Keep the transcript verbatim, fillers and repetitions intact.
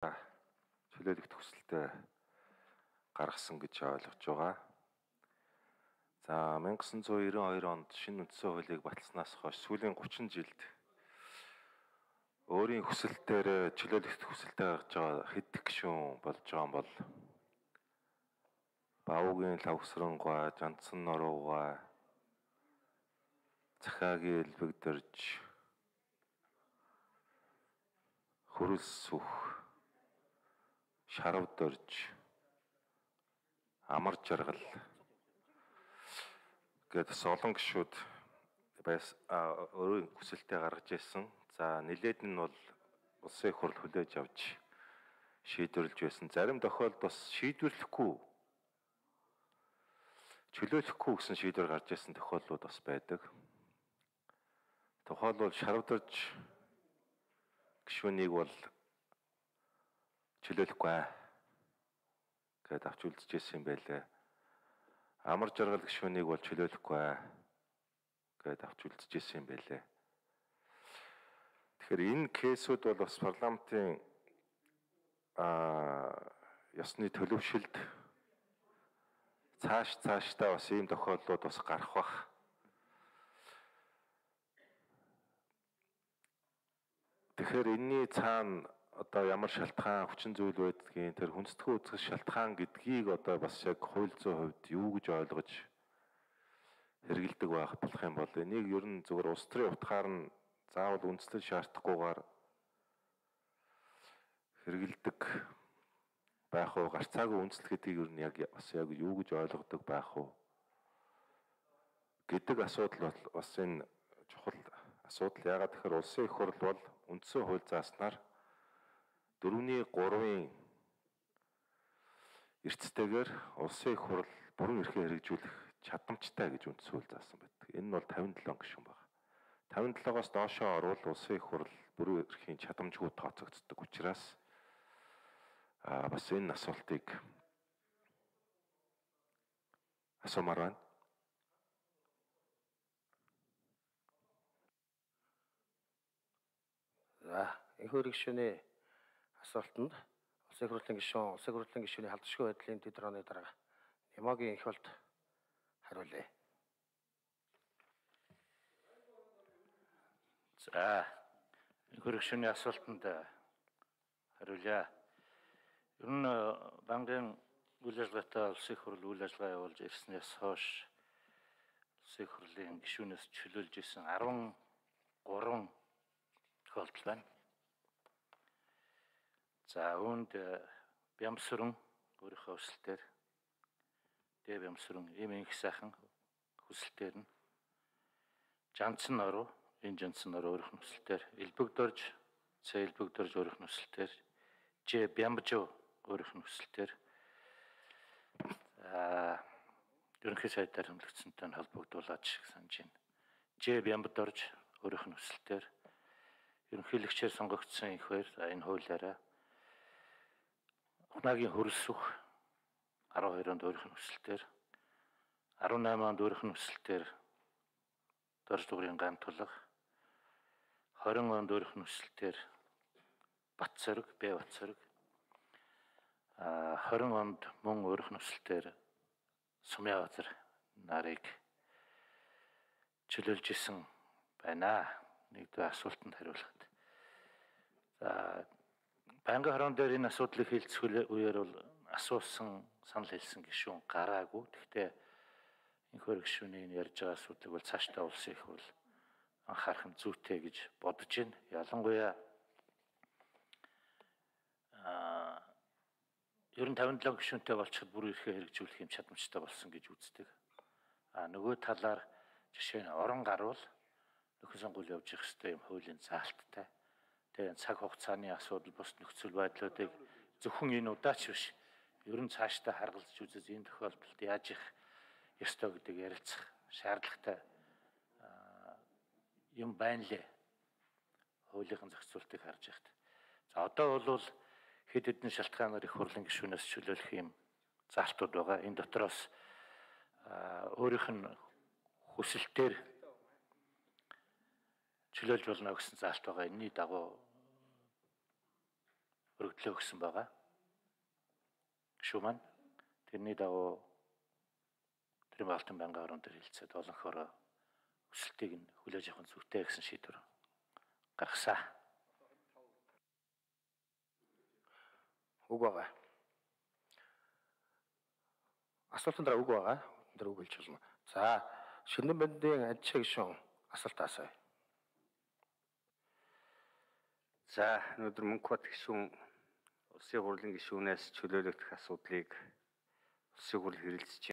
чөлөөлөх төсөлтөд гаргасан гэж ойлгож байгаа. За мянга тоғыз жүз девяносто хоёр онд шинэ үндсэн хуулийг баталснаас хойш сүүлийн гучин жилд өөрийн хүсэлтээр чөлөөлөх төсөлтөд гаргаж байгаа хэдэн гишүүн болж байгаа юм бол Баавуугийн Лавсрангуй, Жандсан Норуугай, Захаагийн Элбэгдэрж, Хүрэл Сүх, Шаравдорж, Амар Жаргал гэдэг олон гишүүд байс өөрийн хүсэлтэд гаргаж ирсэн. За нэлээд нь бол улсын их хурл хүлээж авч шийдвэрлэж байсан. Зарим тохиолдолд бас шийдвэрлэхгүй чөлөөлөхгүй гэсэн шийдвэр гарч ирсэн тохиолдлууд бас байдаг. Тухайлбал Шаравдорж гишүүнийг бол чөлөөлөхгүй гэдээ авч үлдэж ирсэн юм байлээ. Амар Жаргал гишүүнийг бол чөлөөлөхгүй гэдээ авч үлдэж ирсэн юм байлээ. Тэгэхээр энэ кейсүүд бол бас парламентын аа ёсны төлөвшөлд цааш цаашдаа бас ийм тохиолдлууд бас гарах бах. Тэгэхээр энэний цаана одоо ямар шалтгаан хүчин зүйл байдгийг тэр хүндэтгэн үзэх шалтгаан гэдгийг одоо бас яг хууль зүйн хувьд юу гэж ойлгож хэрэгэлдэг байх болох юм бол энийг ер нь зөвхөн улс төрийн утгаар нь заавал үндэслэл шаардахгүйгээр хэрэгэлдэг байх уу, гарцаагүй үндэслэл гэдгийг ер нь яг бас яг юу гэж ойлгодог байх уу гэдэг асуудал бас энэ чухал асуудал. Яагаад тэгэхээр улсын их хурл бол үндсэн хууль зааснаар дөрөвний гуравын эрцтэйгээр улсын их хурл бүрэн эрхээ хэрэгжүүлэх чадамжтай гэж үндсэн хууль заасан байдаг. Энэ нь бол тавин долоо гишүүн байна. тавин долоогоос доошоо орвол улсын их хурл бүрэн эрхийн чадамжгүй тооцогддог учраас а бас энэ асуултыг асуумаар байна. За, энэхүү гишүүний асуултанд улсын их хурлын гишүүн, улсын их хурлын гишүүний халдшгүй байдлын төдрөөний дарга Немогийн их хурлд хариулъя. За, энэхүү гишүүний асуултанд хариулъя. Ер нь банкын үйл ажиллагаатай улсын их хурл үйл ажиллагаа явуулж ирснээс хойш улсын их хурлын гишүүнээс чөлөөлж исэн арван гурван тохиолдол байна. За үүнд Бямсүрэн өөрийнхөө хүсэлтээр, Дэ Бямсүрэн им инх сайхан хүсэлтээр нь, Жандсан Норуу, энэ Жандсан Норуу өөрийнх нь хүсэлтээр, Элбэгдэрж, Цэ Элбэгдэрж өөрийнх нь хүсэлтээр, Жэ Бямбжуу өөрийнх нь хүсэлтээр, за ерөнхий сайдаар хэмлэгдсэнтэй холбогдуулаад шиг санаж байна. Жэ Бямбдорж өөрийнх нь хүсэлтээр, ерөнхийлөгчээр сонгогдсон их баяр энэ хуулиараа Ухнагийн Хүрэл Сүх арван хоёр онд өөрийнх нь хүсэлтээр, арван найман онд өөрийнх нь хүсэлтээр Дорж Дугрын Ган Тулга, хорин онд өөрийнх нь хүсэлтээр Батцорог, Б Батцорог, а хорин онд мөн өөрийнх нь хүсэлтээр Сумьяабазар нарыг чөлөөлж исэн байна. Нэгдүгээр асуултанд хариулахад. За банкны хорон дээр энэ асуудлыг хэлцэх үеэр бол асуусан, санал хэлсэн гишүүн гараагүй. Гэхдээ энэхүү гишүүний ярьж байгаа асуудлыг бол цаашдаа улсын их хурл анхаарах нь зүйтэй гэж бодож байна. Ялангуяа аа ер нь тавин долоо гишүүнтэй болчиход бүр эрхээ хэрэгжүүлэх юм чадамжтай болсон гэж үздэг. А нөгөө талаар жишээ нь орон гарвал нөхөн сонгуул явж их хэвээр юм хуулийн заалттай. Тэгээ цаг хугацааны асуудал бус нөхцөл байдлуудыг зөвхөн энэ удаач биш. Ер нь цаашдаа харгалзаж үзэж энэ тохиолдолд яаж их ёстой гэдэг ярилцах шаардлагатай юм байна лээ. Хуулийн зохицуултыг харж яхад. За одоо бол хэд хэдэн шалтгаанаар их хурлын гишүүнээс чөлөөлөх юм заалтууд байгаа. Энэ дотроос өөрийнх нь хүсэлтээр чөлөөлж болно гэсэн заалт байгаа. Энэний дагуу өргөдлөө өгсөн байгаа. Гишүүн маань тэрний дагуу Тэрийн Алтан байнгын орон дээр хэлцээд олонхороо өсөлтийг нь хүлээж авах нь зүйтэй гэсэн шийдвэр гаргасан. Үг байгаа. Асуултанд дараа үг байгаа. Тэр үг хэлж болно. За, Шинэн бандын Ажиг гишүүн асуулт асууя. За, өнөөдөр Мөнхбат гишүүн улсын хурлын гишүүнээс чөлөөлөгдөх асуудлыг улсын хурл хэрэлцэж